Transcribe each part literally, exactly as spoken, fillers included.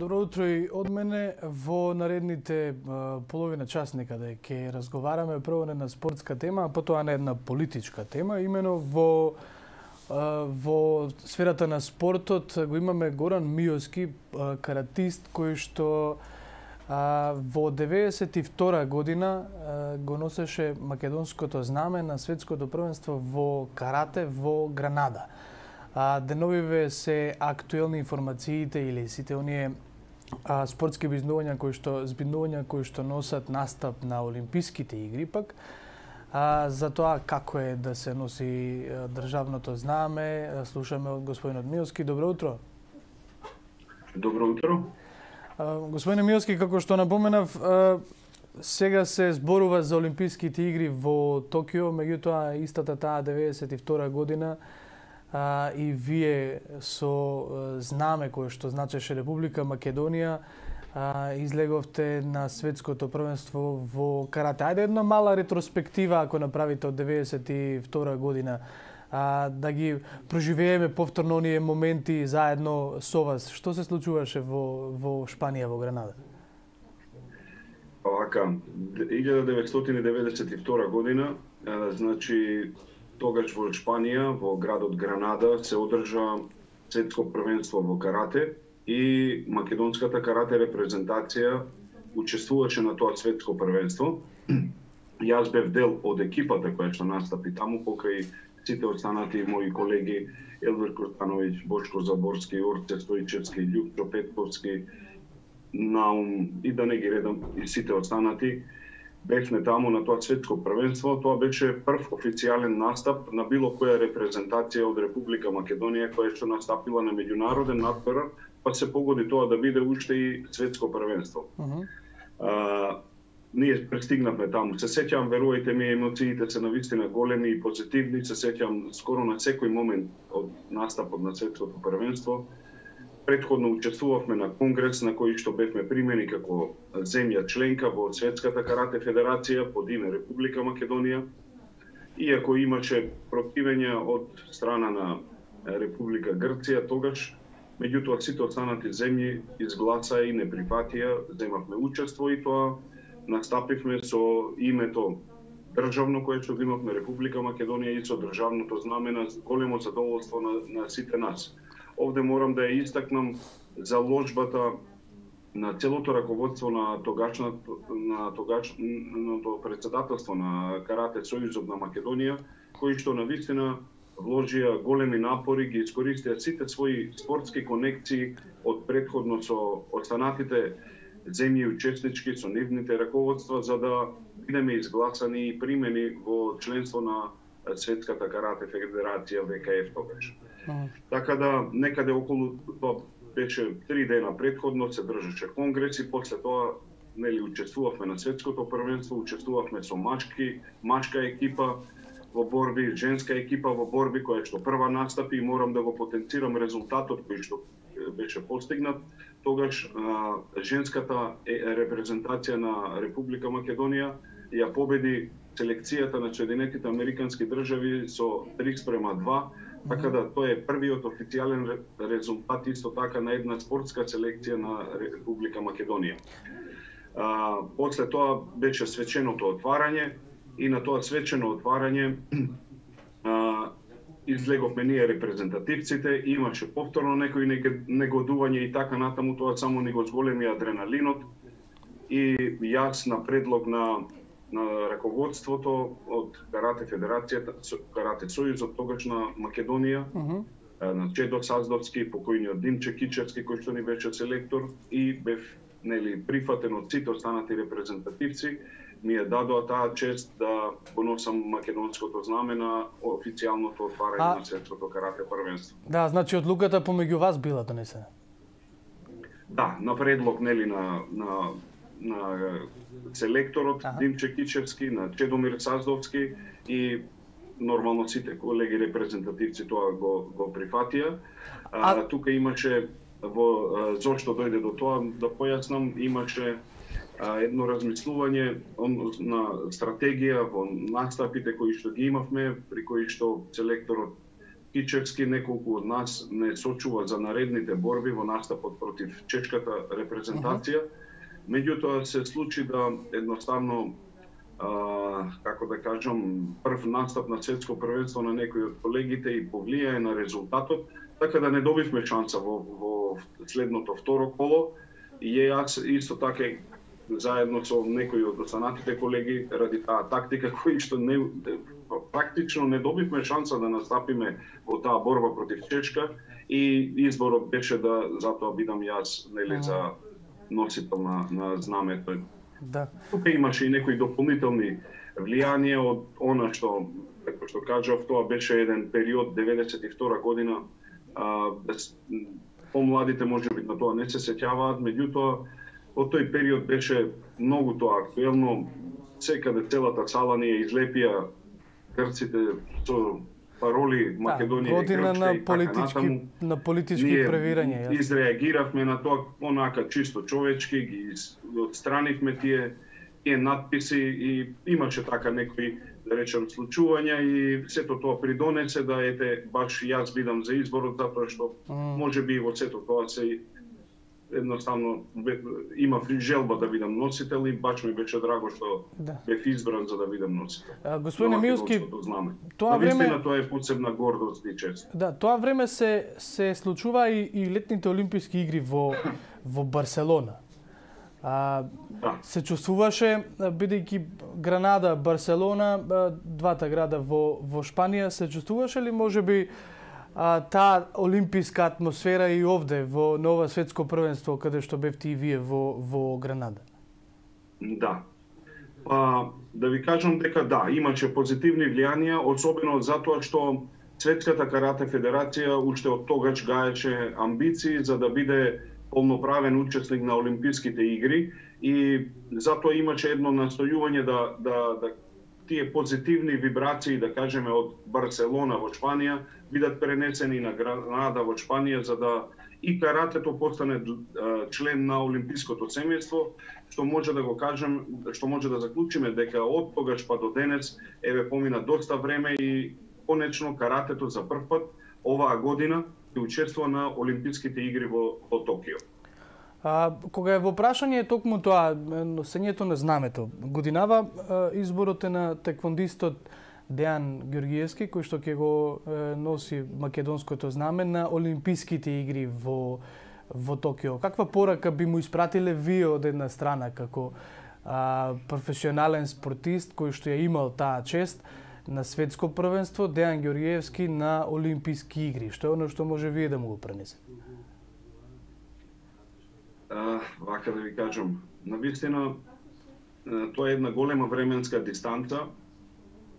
Добро утро и од мене. Во наредните половина час некаде ќе разговараме прво на една спортска тема, а потоа на една политичка тема. Имено во во сферата на спортот го имаме Горан Миовски, каратист кој што во деветдесет и втора година го носеше македонското знаме на светското првенство во карате во Гранада. Деновиве се актуелни информациите или сите оние а, спортски бизнувања кои што збиднувања кои што носат настап на Олимписките игри пак а, за тоа како е да се носи а, државното знаме. Слушаме од господинот Миовски. Добро утро. Добро утро. А, господине Миовски, како што напоменав, а, сега се зборува за Олимписките игри во Токио, меѓутоа истата таа деветдесет и втора година А, и вие со а, знаме кое што значеше Република Македонија а, излеговте на светското првенство во карате. Ајде една мала ретроспектива ако направите од деветдесет и втора година, а, да ги проживееме повторно оние моменти заедно со вас. Што се случуваше во, во Шпанија, во Гранада? Овака, илјада деветстотини деветдесет и втора година, а, значи тогаш во Шпанија, во градот Гранада, се одржа светско првенство во карате и македонската карате репрезентација учествуваше на тоа светско првенство. Јас бев дел од екипата која што настапи таму, покрај сите останати мои колеги Елвир Куртановиќ, Бошко Заборски, Орце Стојчевски, Љупчо Петковски, Наум и да не ги редам и сите останати. Бевме таму на тоа светско првенство. Тоа беше прв официјален настап на било која репрезентација од Република Македонија која што настапила на меѓународен надпревар, па се погоди тоа да биде уште и светско првенство. Uh -huh. а, ние пристигнавме таму. Се сеќавам, верувајте ми, емоциите се навистина големи и позитивни. Се сеќавам скоро на секој момент од настапот на светското првенство. Претходно учествувавме на конгрес на кој што бевме примени како земја членка во Светската карате федерација под име Република Македонија. Иако имаше противење од страна на Република Грција тогаш, меѓутоа сите останати земји изгласаа и не прифатија, земавме учество и тоа настапивме со името државно кое што имавме Република Македонија и со државното знаме на големо задоволство на, на сите нас. Овде морам да ја истакнам заложбата на целото раководство на тогашното на тогашното председателство на Карате Сојузот на Македонија, кои што навистина вложија големи напори, ги искористија сите своји спортски конекции од претходно со останатите земји учеснички, со нивните раководства, за да бидеме изгласани и примени во членство на Светската карате федерација В К Ф тогаш. Uh-huh. Така да некаде околу тоа беше три дена претходно се држеше конгрес и после тоа нели учествувавме на светското првенство, учествувавме со мачки, мачка екипа во борби, женска екипа во борби која што прва настапи и морам да го потенцирам резултатот кој што беше постигнат. Тогаш а, женската репрезентација на Република Македонија ја победи селекцијата на Соединетите Американски држави со три спрема два. Така да тоа е првиот официјален резултат исто така на една спортска селекција на Република Македонија. А, после тоа беше свеченото отварање и на тоа свечено отварање а, излеговме ние репрезентативците, имаше повторно некои негодување и така натаму, тоа само ни го зголеми адреналинот и јас на предлог на на раководството од Карате Федерацијата, Карате Сојузот тогаш на Македонија, uh-huh. на Чедо Саздовски, покојниот Димче Кичевски кој што ни беше селектор и бев нели прифатен од сите останати репрезентативци, ми ја дадоа таа чест да го носам македонското знаме на официјалното отварање а... на светското карате првенство. Да, значи одлуката помеѓу вас била донесена. Да, на предлог нели на на на селекторот ага. Димче Кичевски, на Чедомир Саздовски и нормално сите колеги репрезентативци тоа го, го прифатија. А... А, тука имаше, во, зошто дојде до тоа, да појаснам, имаше а, едно размислување на стратегија во настапите кои што ги имавме, при кои што селекторот Кичевски неколку од нас не сочува за наредните борби во настапот против чешката репрезентација. Меѓутоа се случи да едноставно, а, како да кажам, прв настап на светско првенство на некои од колегите и повлијае на резултатот, така да не добивме шанса во, во следното второ коло. И јас исто така заедно со некои од останатите колеги ради таа тактика кои што не практично не добивме шанса да настапиме во таа борба против Чешка и изборот беше да затоа бидам јас нели за носител на, на знамето. Да. Тука имаше и некои дополнителни влијанија од она што, како што кажав, тоа беше еден период деветдесет и втора година. А, без, помладите можеби на тоа не се сеќаваат, меѓутоа во тој период беше многу тоа актуелно. Секаде целата сала ни ја излепија грците со пароли Македонија да, година на политички на политички превирања. Ние изреагиравме на тоа онака чисто човечки, ги отстранивме тие тие надписи и имаше така некои, да речем, случувања и сето тоа придонесе да ете баш јас бидам за изборот, затоа што mm. можеби во сето тоа се едноставно имав желба да бидам носител и баш ми беше драго што да. бев избран за да бидам носител. А, господине Милски, тоа време тоа е посебна гордост и чест. Да, тоа време се се случува и, и летните олимписки игри во во Барселона. А, да. Се чувствуваше, бидејќи Гранада, Барселона, двата града во во Шпанија, се чувствуваше ли можеби а, таа олимписка атмосфера и овде во нова светско првенство каде што бевте и вие во во Гранада? Да. Па да ви кажам дека да, имаше позитивни влијанија, особено затоа што Светската карате федерација уште од тогаш гаеше амбиции за да биде полноправен учесник на Олимписките игри и затоа имаше едно настојување да, да, да тие позитивни вибрации, да кажеме, од Барселона во Шпанија бидат пренесени на Гранада во Шпанија за да и каратето постане член на Олимпиското семејство, што може да го кажем, што може да заклучиме дека од тогаш па до денес еве помина доста време и конечно каратето за прв пат оваа година и учествува на Олимписките игри во, во Токио. А, кога е во прашање токму тоа носењето на знамето, годинава изборот е на теквондистот Дејан Ѓорѓиевски, кој што ќе го е, носи македонското знаме на Олимписките игри во во Токио. Каква порака би му испратиле вие од една страна како а, професионален спортист кој што ја имал таа чест на светско првенство, Дејан Ѓорѓиевски на Олимписки игри? Што е оно што може вие да му го пренесете? Uh, вака да ви кажам, навистина тоа е една голема временска дистанца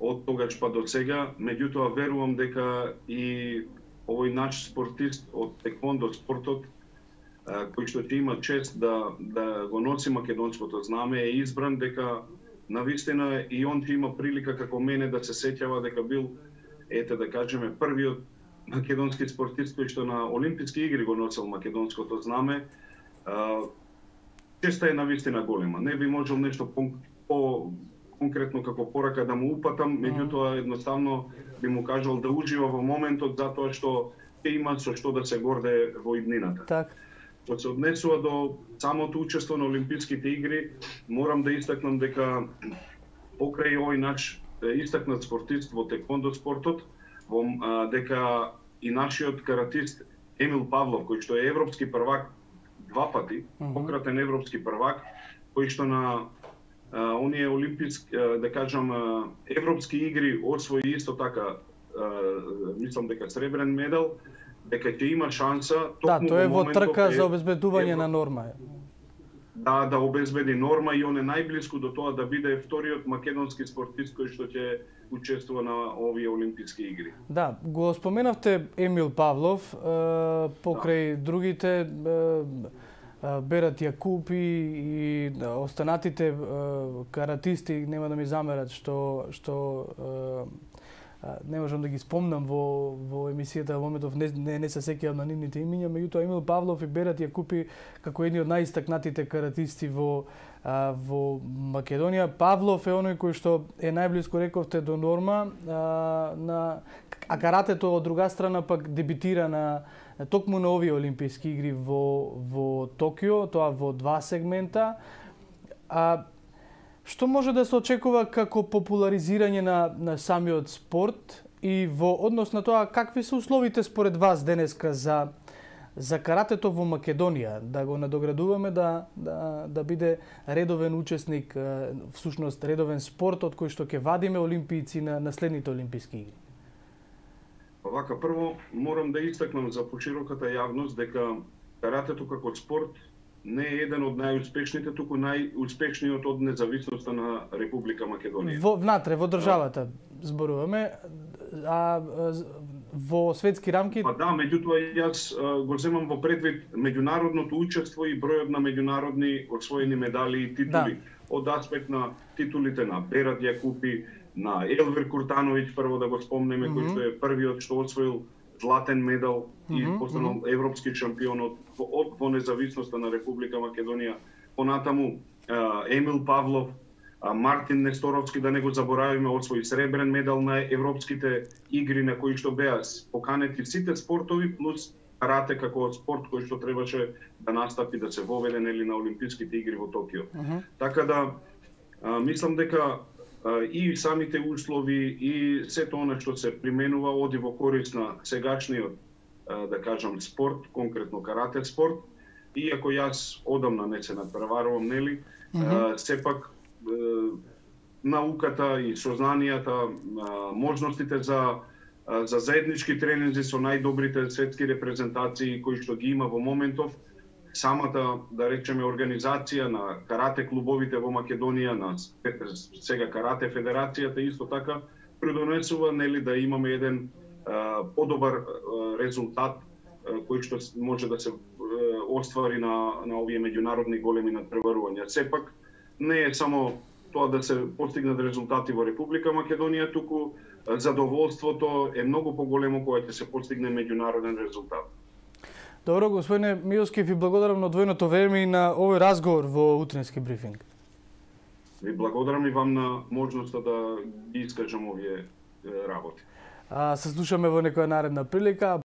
од тогаш па до сега, меѓутоа верувам дека и овој наш спортист од теквондо спортот uh, кој што ќе има чест да, да го носи македонското знаме е избран, дека навистина и он ќе има прилика како мене да се сеќава дека бил, ете да кажеме, првиот македонски спортист кој што на Олимписки игри го носел македонското знаме. Uh, честа е навистина голема. Не би можел нешто по, по конкретно како порака да му упатам, меѓутоа едноставно би му кажал да ужива во моментот затоа што ќе има со што да се горде во иднината. Так. Што се однесува до самото учество на Олимписките игри, морам да истакнам дека покрај овој наш истакнат спортист во теквондо спортот, во, а, дека и нашиот каратист Емил Павлов, кој што е европски првак два пати, пократен европски првак, кој што на а, оние олимписки, а, да кажам, а, европски игри освои исто така, а, мислам дека сребрен медал, дека ќе има шанса токму. Да, тоа е во трка е, за обезбедување евро... на норма. Да, да обезбеди норма и он е најблиску до тоа да биде вториот македонски спортист кој што ќе учествува на овие олимписки игри. Да, го споменавте Емил Павлов, покрај да. другите Берат Јакупи и останатите каратисти, нема да ми замерат што што не можам да ги спомнам во во емисијата во моментов, не не, не се сеќавам на нивните имиња, меѓутоа Емил Павлов и Берат Јакупи како едни од најистакнатите каратисти во а, во Македонија. Павлов е оној кој што е најблиску, рековте, до норма, а, на а каратето од друга страна пак дебитира на токму на овие олимписки игри во во Токио, тоа во два сегмента. А што може да се очекува како популаризирање на, на самиот спорт и во однос на тоа какви се условите според вас денеска за за каратето во Македонија, да го надоградуваме да да да биде редовен учесник, всушност редовен спорт од кој што ќе вадиме олимпијци на, на следните олимписки игри? Вака, прво морам да истакнам за пошироката јавност дека каратето како спорт не е еден од најуспешните, туку најуспешниот од независноста на Република Македонија. Во внатре во државата зборуваме, а во светски рамки? Па да, меѓутоа јас го земам во предвид меѓународното учество и бројот на меѓународни освоени медали и титули. Да. Од аспект на титулите на Берат Јакупи, на Елвир Куртановиќ, прво да го спомнеме, mm -hmm. кој што е првиот што освоил златен медал и mm -hmm. постанал mm -hmm. европски шампион од, од во независноста на Република Македонија. Понатаму Емил Павлов, Мартин Несторовски, да не го заборавиме, освои сребрен медал на европските игри на кои што беа поканети сите спортови плюс карате како спорт кој што требаше да настапи да се воведе нели на олимписките игри во Токио. Mm -hmm. Така да а, мислам дека а, и самите услови и сето она што се применува оди во корист на сегачниот а, да кажам спорт, конкретно карате спорт. Иако јас одамна не се надпреварувам, нели, mm -hmm. а, сепак науката и сознанијата, можностите за за заеднички тренинзи со најдобрите светски репрезентации кои што ги има во моментов, самата, да речеме, организација на карате клубовите во Македонија, на сега карате федерацијата исто така придонесува нели да имаме еден а, подобар а, резултат а, кој што може да се а, оствари на на овие меѓународни големи надпреварувања. Сепак не е само тоа да се постигнат резултати во Република Македонија, туку задоволството е многу поголемо кога ќе се постигне меѓународен резултат. Добро, господине Милски, ви благодарам на одвоеното време и на овој разговор во утренски брифинг. Ви благодарам и вам на можноста да ги искажам овие работи. А, се слушаме во некоја наредна прилика.